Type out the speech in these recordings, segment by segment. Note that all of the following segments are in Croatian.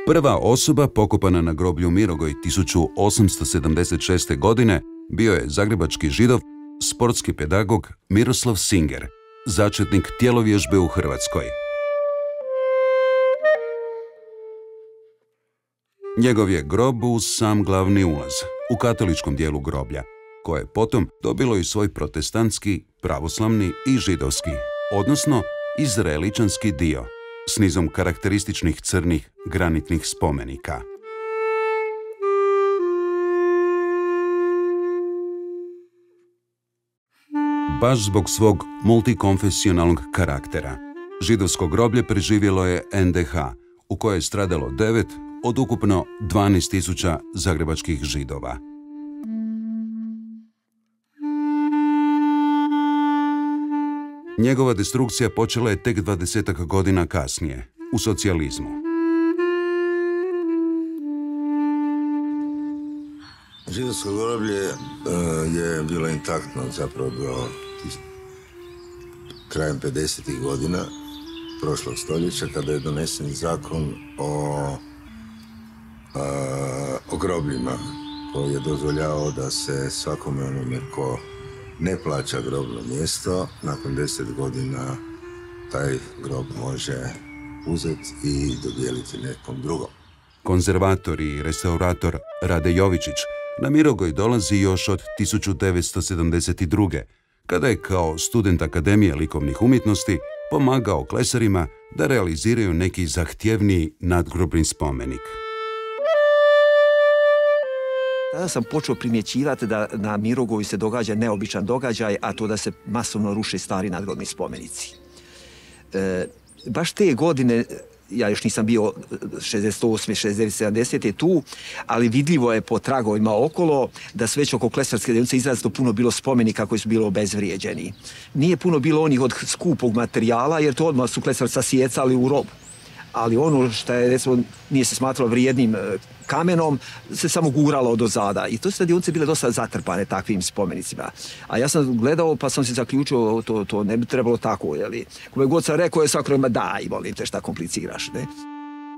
Prva osoba pokopana na groblju Mirogoj 1876. godine bio je zagrebački Židov, sportski pedagog Miroslav Singer, začetnik tjelovježbe u Hrvatskoj. Njegov je grob uz sam glavni ulaz, u katoličkom dijelu groblja, koje je potom dobilo i svoj protestantski, pravoslavni i židovski, odnosno izraeličanski dio, s nizom karakterističnih crnih granitnih spomenika. Baš zbog svog multikonfesionalnog karaktera, židovsko groblje preživjelo je NDH, u kojoj je stradalo 9 od ukupno 12.000 zagrebačkih Židova. Njegova destrukcija počela je tek 20 godina kasnije, u socijalizmu. Židovsko groblje je bilo intaktno zapravo do krajem 50. godina prošlog stoljeća, kada je donesen zakon o grobljima, koji je dozvoljavao da se svakome onome ko ne plaća grobno mjesto, nakon 10 godina taj grob može uzeti i dodijeliti nekom drugom. Konzervator i restaurator Rade Jovičić na Mirogoj dolazi još od 1972. kada je kao student Akademije likovnih umjetnosti pomagao klesarima da realiziraju neki zahtjevniji nadgrobni spomenik. Tada sam počeo primjećivati da na Mirogoju se događa neobičan događaj, a to da se masovno ruše stari nadgrobni spomenici. Baš te godine, ja još nisam bio 68. 69. 70. tu, ali vidljivo je po tragovima okolo da sve već oko klesarske dionice izrazito puno bilo spomenika koji su bili obezvrijeđeni. Nije puno bilo onih od skupog materijala, jer to odmah su klesarci sasijecali u rob. Ali ono što je, recimo, nije se smatralo vrijednim kamenom, se samo guralo do zada. I to su dionice bile dosta zatrpane takvim spomenicima. A ja sam gledao pa sam se zaključio, to ne bi trebalo tako, jeli. Kome god sam rekao je svako ima daj, volim te, šta kompliciraš, ne?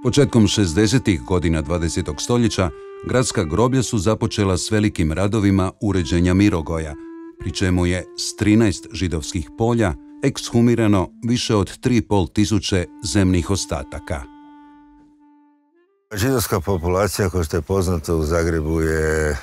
Početkom 60. godina 20. stoljeća gradska groblja su započela s velikim radovima uređenja Mirogoja, pri čemu je s 13 židovskih polja ekshumirano više od 3.500 zemnih ostataka. Židovska populacija, kao što je poznato, u Zagrebu je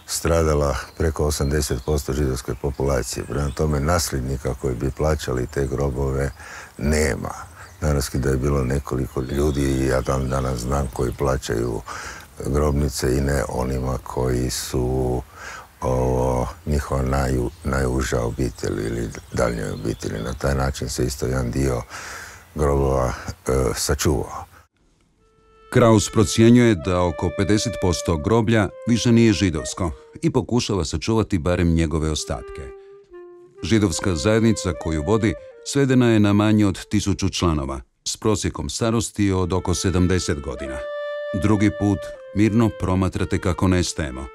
stradala preko 80% židovske populacije. Prema tome, nasljednika koji bi plaćali te grobove nema. Naravski da je bilo nekoliko ljudi, i ja dan danas znam, koji plaćaju grobnice i ne onima koji su njihova najuža obitelj ili daljnjoj obitelji. Na taj način se isto jedan dio grobova sačuvao. Kraus procjenjuje da oko 50% groblja više nije židovsko i pokušava sačuvati barem njegove ostatke. Židovska zajednica koju vodi svedena je na manje od 1000 članova, s prosjekom starosti od oko 70 godina. Drugi put mirno promatrate kako nestajemo.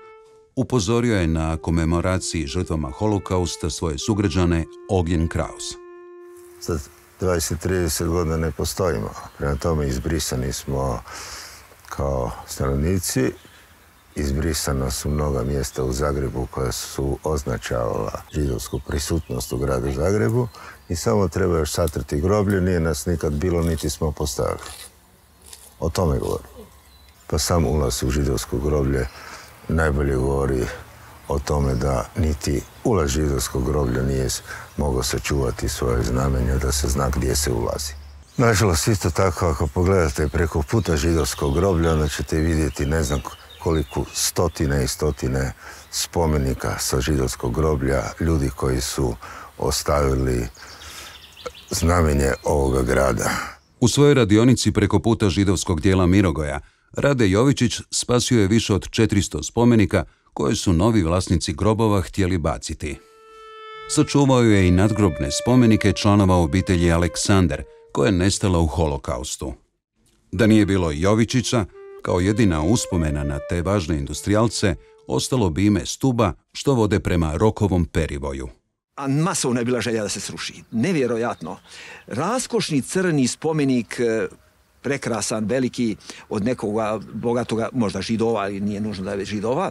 Upozorio je na komemoraciji žrtvama holokausta svoje sugrađane Ognjen Kraus. Sad 20-30 godina ne postojimo. Prema tome izbrisani smo kao stanovnici. Izbrisana su mnoga mjesta u Zagrebu koja su označavala židovsku prisutnost u gradu Zagrebu i samo treba još satrti groblje. Nije nas nikad bilo, niti smo postavili. O tome govorim. Pa sam ulaz u židovsko groblje najbolje govori o tome da niti ulaz židovskog groblja nije mogao sačuvati svoje znamenje, da se zna gdje se ulazi. Nažalost, isto tako, ako pogledate preko puta židovskog groblja, onda ćete vidjeti ne znam koliko stotine i stotine spomenika sa židovskog groblja, ljudi koji su ostavili znamenje ovoga grada. U svojoj radionici preko puta židovskog dijela Mirogoja Rade Jovičić spasio je više od 400 spomenika koje su novi vlasnici grobova htjeli baciti. Sačuvao je i nadgrobne spomenike članova obitelji Aleksander, koja je nestala u holokaustu. Da nije bilo Jovičića, kao jedina uspomena na te važne industrijalce, ostalo bi ime stuba što vode prema Rokovom perivoju. A masovna je bila želja da se sruši. Nevjerojatno. Raskošni crni spomenik prekrasan, veliki, od nekoga bogatoga, možda Židova, ali nije nužno da je Židova,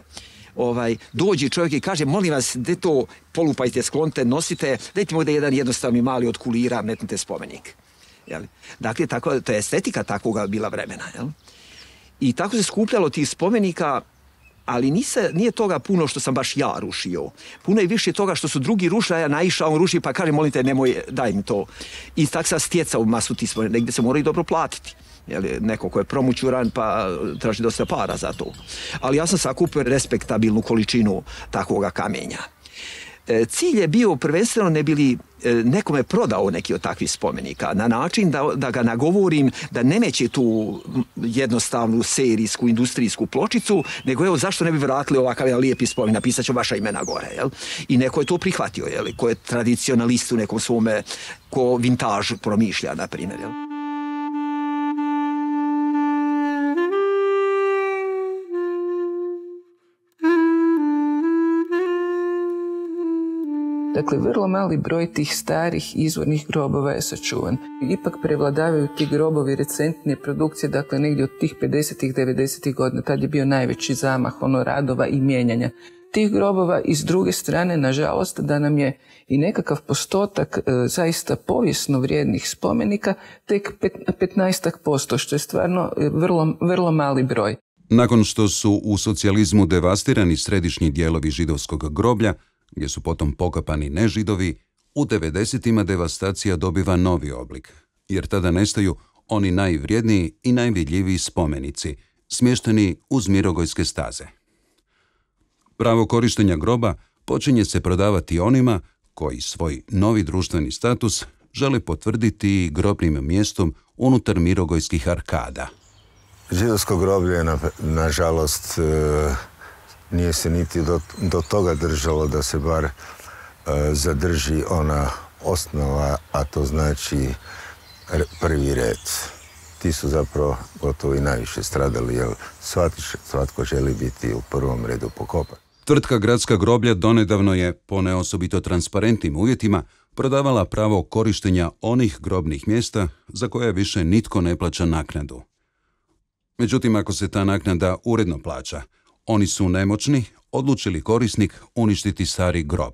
dođe čovjek i kaže, molim vas, gdje to polupajte, sklonite, nosite, dajte mi ovdje jedan jednostavni mali od kulira, metnite spomenik. Dakle, to je estetika takvoga bila vremena. I tako se skupljalo tih spomenika, ali nije toga puno što sam baš ja rušio. Puno je više toga što su drugi rušili, a ja naišao, on ruši, pa kaže, molim te, nemoj, daj mi to. I tako sam stjecao masu tih spomenika, negdje se moraju dobro platiti. Neko ko je promućuran pa traži dosta para za to. Ali ja sam sakupio respektabilnu količinu takvoga kamenja. Cilj je bio prvenstveno ne bi li nekome prodao neki od takvih spomenika na način da ga nagovorim da ne neće tu jednostavnu serijsku, industrijsku pločicu, nego evo zašto ne bi vratili ovakav jedan lijepi spomenik, napisat ću vaša imena gore. I neko je to prihvatio, ko je tradicionalist u nekom svome, ko vintaž promišlja, na primjer. Dakle, vrlo mali broj tih starih izvornih grobova je sačuvan. Ipak prevladavaju ti grobovi recentne produkcije, dakle negdje od tih 50-ih, 90-ih godina, tad je bio najveći zamah radova i mijenjanja tih grobova. I s druge strane, nažalost, da nam je i nekakav postotak zaista povijesno vrijednih spomenika tek 15%, što je stvarno vrlo mali broj. Nakon što su u socijalizmu devastirani središnji dijelovi židovskog groblja, gdje su potom pokapani nežidovi, u 90-ima devastacija dobiva novi oblik, jer tada nestaju oni najvrijedniji i najvidljiviji spomenici, smješteni uz Mirogojske staze. Pravo korištenja groba počinje se prodavati onima koji svoj novi društveni status žele potvrditi grobnim mjestom unutar Mirogojskih arkada. Židovsko groblje, nažalost, nije se niti do toga držalo da se bar zadrži ona osnova, a to znači prvi red. Ti su zapravo gotovo i najviše stradali, jer svatko želi biti u prvom redu pokopan. Tvrtka Gradska groblja donedavno je, po neosobito transparentnim uvjetima, prodavala pravo korištenja onih grobnih mjesta za koje više nitko ne plaća naknadu. Međutim, ako se ta naknada uredno plaća, oni su nemoćni, odlučili korisnik uništiti stari grob.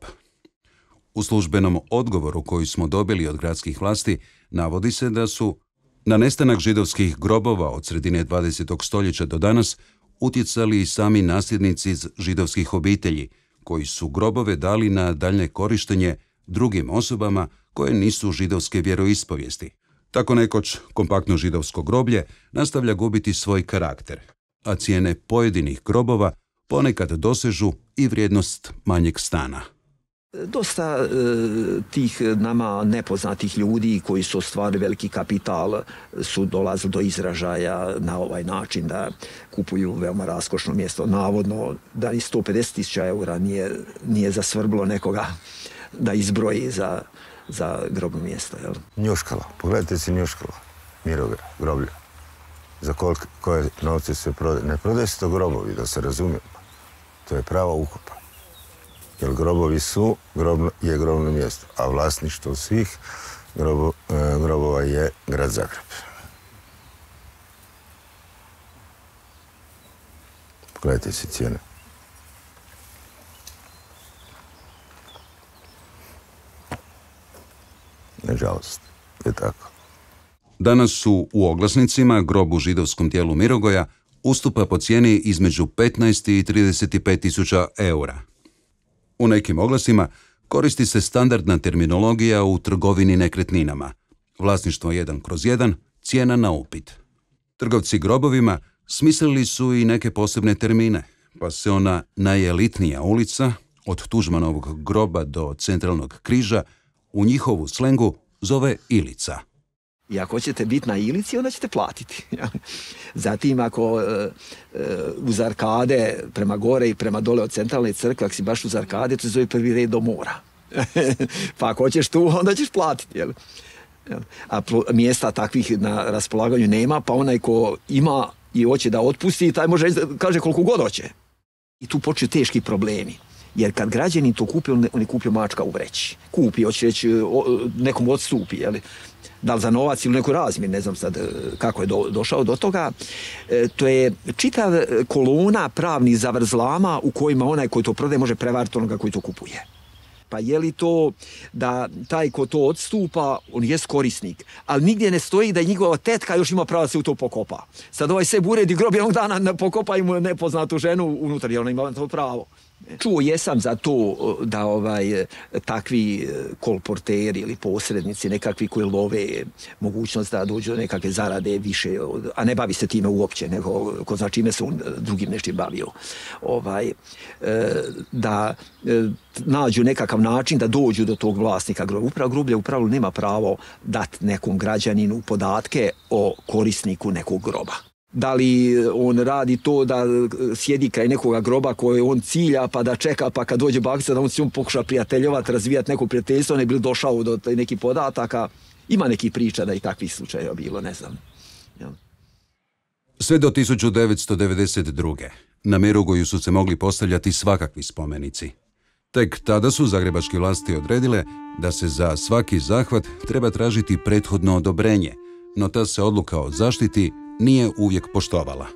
U službenom odgovoru koji smo dobili od gradskih vlasti navodi se da su na nestanak židovskih grobova od sredine 20. stoljeća do danas utjecali i sami nasljednici iz židovskih obitelji, koji su grobove dali na daljnje korištenje drugim osobama koje nisu židovske vjeroispovijesti. Tako nekoć kompaktno židovsko groblje nastavlja gubiti svoj karakter, a cijene pojedinih grobova ponekad dosežu i vrijednost manjeg stana. Dosta tih nama nepoznatih ljudi koji su ostvarili veliki kapital su dolazili do izražaja na ovaj način da kupuju veoma raskošno mjesto. Navodno da i 150.000 eura nije zasvrbilo nekoga da izbroji za grobno mjesto. Njuškala, pogledajte si Njuškala, Mirogaj, groblje. Za koje novce se prodaje. Ne prodaje se to grobovi, da se razumijemo. To je prava ukopa. Jer grobovi je grobno mjesto, a vlasništvo svih grobova je grad Zagreb. Pogledajte si cijene. Nažalost, je tako. Danas su u oglasnicima grob u židovskom dijelu Mirogoja ustupa po cijeni između 15 i 35 tisuća eura. U nekim oglasima koristi se standardna terminologija u trgovini nekretninama. Vlasništvo 1/1, cijena na upit. Trgovci grobovima smislili su i neke posebne termine, pa se ona najelitnija ulica, od Tuđmanovog groba do Centralnog križa, u njihovu slengu zove Ilica. I ako ćete biti na Ilici, onda ćete platiti. Zatim, ako uz arkade prema gore i prema dole od centralne crkve, ako si baš uz arkade, to se zove prvi red do mora. Pa ako hoćeš tu, onda ćeš platiti. A mjesta takvih na raspolaganju nema, pa onaj ko ima i hoće da otpusti, taj može kaže koliko god hoće. I tu počne teški problemi. Jer kad građanin to kupi, on je kupio mačka u vreći. Kupi, hoće reći, nekom odstupi, jeli? Da li za novac ili neku razmjer, ne znam sad kako je došao do toga. To je čitav kolona pravnih zavrzlama u kojima onaj koji to prodaje može prevariti onoga koji to kupuje. Pa je li to da taj ko to odstupa, on jest korisnik, ali nigdje ne stoji da njegova tetka još ima pravo da se u to pokopa. Sad ovaj sebi uredi grob jednog dana pokopa i mu nepoznatu ženu unutar, jer ona ima to pravo. Čuo jesam za to da takvi kolporteri ili posrednici, nekakvi koji love mogućnost da dođu do nekakve zarade više, a ne bavi se time uopće, nego ko zna čime se on drugim nešto bavio. Da nađu nekakav način da dođu do tog vlasnika groblja. Groblje u pravilu nema pravo dati nekom građaninu podatke o korisniku nekog groba. Da li on radi to da sjedi kraj nekoga groba koje on cilja pa da čeka pa kad dođe bakica da on se pokuša prijateljovati, razvijati neko prijateljstvo, ne bi li došao do nekih podataka. Ima nekih priča da i takvih slučajeva bilo, ne znam. Sve do 1992. na Mirogoju su se mogli postavljati svakakvi spomenici. Tek tada su zagrebačke vlasti odredile da se za svaki zahvat treba tražiti prethodno odobrenje, no ta se odluka o zaštiti nije uvijek poštovala.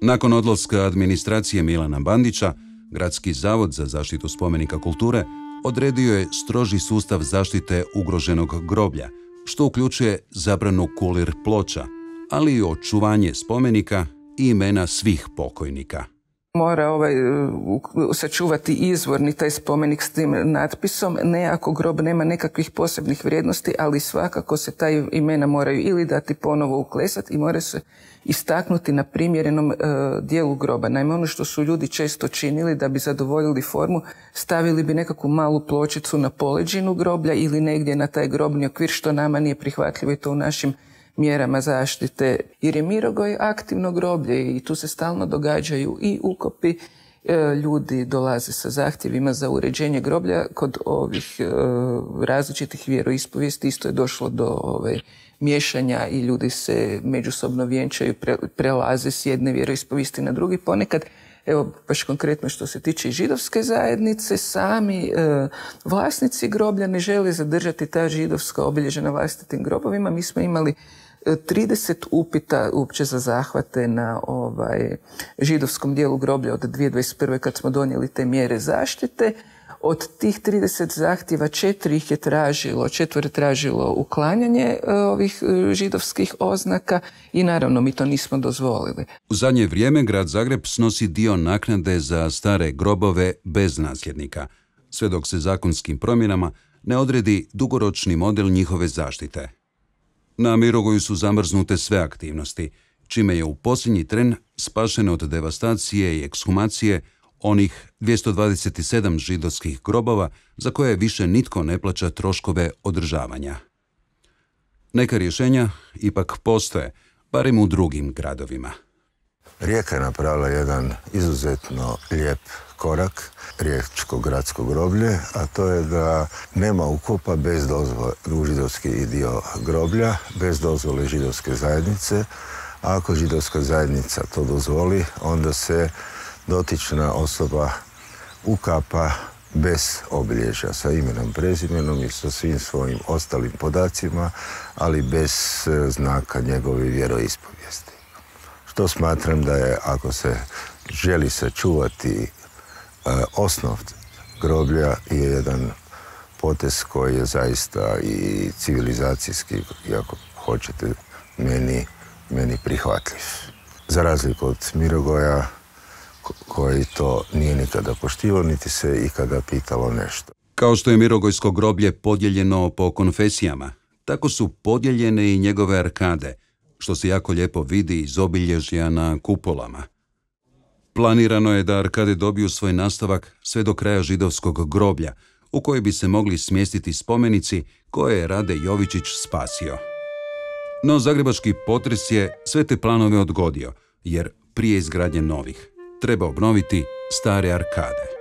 Nakon odlaska administracije Milana Bandića, Gradski zavod za zaštitu spomenika kulture odredio je stroži sustav zaštite ugroženog groblja, što uključuje zabranu kulir ploča, ali i očuvanje spomenika i imena svih pokojnika. Mora sačuvati izvorni taj spomenik s tim natpisom, ne ako grob nema nekakvih posebnih vrijednosti, ali svakako se taj imena moraju ili dati ponovo uklesati i mora se istaknuti na primjerenom dijelu groba. Naime, ono što su ljudi često činili da bi zadovoljili formu, stavili bi nekakvu malu pločicu na poleđinu groblja ili negdje na taj grobni okvir, što nama nije prihvatljivo i to u našim mjerama zaštite, jer je Mirogoj aktivno groblje i tu se stalno događaju i ukopi, ljudi dolaze sa zahtjevima za uređenje groblja. Kod ovih različitih vjeroispovijesti isto je došlo do miješanja i ljudi se međusobno vjenčaju, prelaze s jedne vjeroispovijesti na drugi. Ponekad, evo baš konkretno što se tiče židovske zajednice, sami vlasnici groblja ne žele zadržati ta židovska obilježja na vlastitim grobovima. Mi smo imali 30 upita uopće za zahvate na židovskom dijelu groblja od 2021. kad smo donijeli te mjere zaštite. Od tih 30 zahtjeva 4 tražilo uklanjanje ovih židovskih oznaka i naravno mi to nismo dozvolili. U zadnje vrijeme grad Zagreb snosi dio naknade za stare grobove bez nasljednika, sve dok se zakonskim promjenama ne odredi dugoročni model njihove zaštite. Na Mirogoju su zamrznute sve aktivnosti, čime je u posljednji tren spašeno od devastacije i ekshumacije onih 227 židovskih grobova za koje više nitko ne plaća troškove održavanja. Neka rješenja ipak postoje, barem u drugim gradovima. Rijeka je napravila jedan izuzetno lijep korak, riječko gradsko groblje, a to je da nema ukopa bez dozvole u židovski dio groblja, bez dozvole židovske zajednice. A ako židovska zajednica to dozvoli, onda se dotična osoba ukapa bez obilježja, sa imenom, prezimenom i sa svim svojim ostalim podacima, ali bez znaka njegove vjeroispovijesti. Što smatram da je, ako se želi sačuvati osnov groblja, je jedan potez koji je zaista i civilizacijski, ako hoćete, meni prihvatljiv. Za razliku od Mirogoja, koji to nije nikada poštivao, niti se ikada pitalo nešto. Kao što je Mirogojsko groblje podijeljeno po konfesijama, tako su podijeljene i njegove arkade, što se jako lijepo vidi iz obilježja na kupolama. Planirano je da arkade dobiju svoj nastavak sve do kraja židovskog groblja, u kojoj bi se mogli smjestiti spomenici koje je Rade Jovičić spasio. No zagrebački potres je sve te planove odgodio, jer prije izgradnje novih treba obnoviti stare arkade.